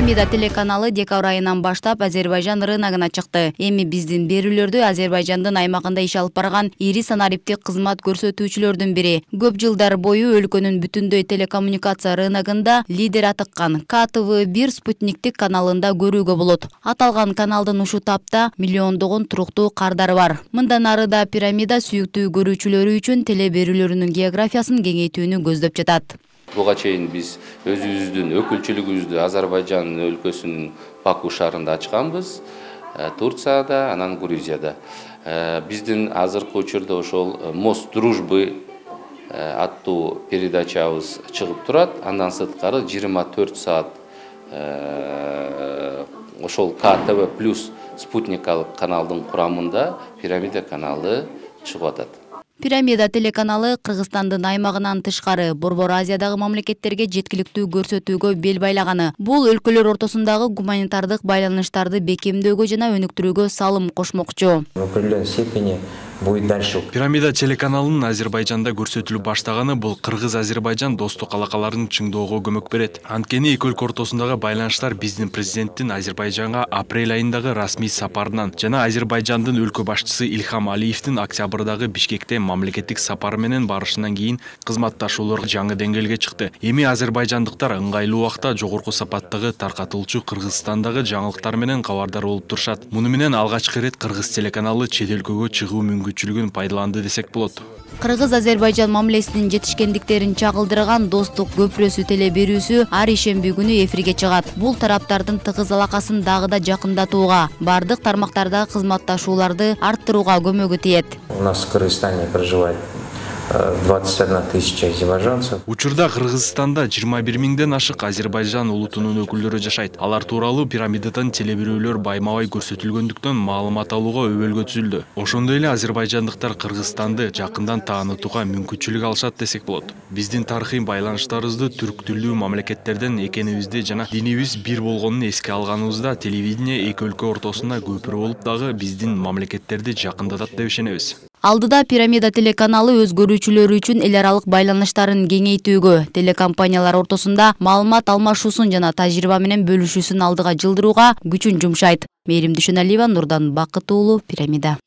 Пирамида телеканалы декабрь айынан баштап Азербайжан рыногуна чыкты. Эми биздин берүүлөрдү Азербайжандын аймагында иш алып барган ири санариптик кызмат көрсөтүүчүлөрдүн бири. Көп жылдар бою өлкөнүн бүтүндөй телекоммуникация рыногунда лидер атыккан КТВ1 спутниктик каналында көрүүгө болот. Аталган каналдын ушул тапта миллиондогон туруктуу кардары бар. Мындан ары да Пирамида сүйүктүү көрүүчүлөрү үчүн теле берүүлөрүнүн географиясын кеңейтүүнү көздөп жатат. Буга чейин биз өзүбүздүн өкүлчүлүгүбүздү Азербайжан өлкөсүнүн Баку шаарында ачканбыз, Турцияда, анан Грузияда. Биздин азыркы учурда ошол Мост дружбы аттуу передачабыз чыгып турат. Андан сырткары 24 саат ошол КТВ плюс спутникалык каналдын курамында Пирамида каналы чыгып атат. Пирамида телеканалы Кыргызстандын аймагынан тышкары Борбор Азиядагы мамлекеттерге жеткиликтүү көрсөтүүгө бел байлаганы. Бул өлкөлөр ортосундагы гуманитардык байланыштарды бекемдөөгө жана өнүктүрүүгө салым кошмокчу. В определенной степени будет дальше. Пирамида телеканалынын Азербайжанда көрсөтүлүп баштаганы бул Кыргыз-Азербайжан достук алакаларын чыңдоого көмөк берет. Анткени эки өлкө ортосундагы байланыштар биздин президенттин Азербайжанга апрель айындагы расмий сапарынан жана Азербайжандын өлкө башчысы Ильхам Алиевдин октябрдагы Бишкекте мамлекеттик сапары менен барышынан кийин кызматташуулар жаңы деңгээлге чыкты. Эми азербайжандыктар ыңгайлуу убакта жогорку сапаттагы таркатылчу Кыргызстандагы жаңылыктар менен кабардар болуп турушат. Муну менен алгачкы ирет Кыргыз телеканалы чет өлкөгө чыгуу мүмкүнчүлүгүн пайдаланды десек болот. Кыргыз-Азербайжан мамилесинин жетишкендиктерин чагылдырган достук көпүрөсү теле берүүсү ар ишемби күнү эфирге чыгат. Бул тараптардын тыгыз алакасын дагы да жакындатууга, бардык тармактардагы кызматташууларды арттырууга көмөгү тиет. У нас в Кыргызстане проживает 21 тысяча азербайджанцев. Учурда Кыргызстанда 21 миңден ашык Азербайжан улутунун өкүлдөрү жашайт. Алар тууралуу Пирамидадан теле берүүлөр байма-бай көрсөтүлгөндүктөн маалымат алууга өбөлгө түзүлдү. Ошондой эле азербайжандыктар Кыргызстанды жакындан таанытууга мүмкүнчүлүк алышат десек болот. Биздин тарыхый байланыштарыбызды түрк тилдүү мамлекеттерден экенибизди жана динибиз бир болгонун эске алганыбызда телевидение эки өлкө ортосунда көпүрө болуп дагы биздин мамлекеттерди жакындатат деп ишенебиз. Алдыда Пирамида телеканалы өз көрүүчүлөрү үчүн эл аралык байланыштарын кеңейтүүгө, телекомпаниялар ортосунда маалымат алмашуусун жана тажрыйба менен бөлүшүүсүн алдыга жылдырууга күчүн жумшайт. Мээрим Дүйшөналиева, Нурдан Бакыт уулу, Пирамида.